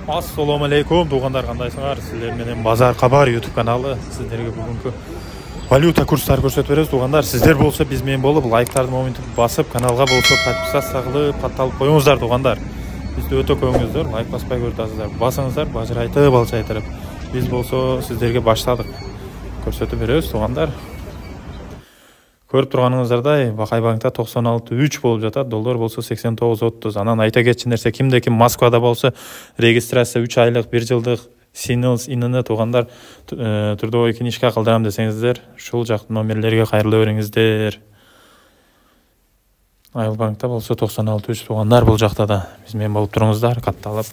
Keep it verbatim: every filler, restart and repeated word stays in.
Ассаламу алейкум туугандар, кандайсыңар? Сиздер менен Базар Кабар YouTube каналы сиздерге бүгүнкү валюта курстарын көрсөтүп беребиз туугандар. Сиздер болсо биз менен болуп, лайктарды моментип басып, каналга болсо подписаться кылып, катталып коюңуздар туугандар. Бизде өтө көңүлдөр, лайк баспай көрүп басыңыздар, бажырайтып, балчайтырып. Биз болсо сиздерге баштадык. Көрсөтүп беребиз туугандар. Көрүп турганыңыздардай, Бакай банкта токсон алты үч болуп жатат, доллар болсо сексен тогуз отуз. Анан айта кетчү нерсе, кимде ким Москвада болсо, регистрация үч айлык, бир жылдык Синилс инини туугандар трудовой книжка кылдырам десеңиздер, ушул жак номерлерге кайрыла бериңиздер. Айыл банкта болсо токсон алты үч туугандар, бул жакта да биз менен болуп туруңуздар, катталып.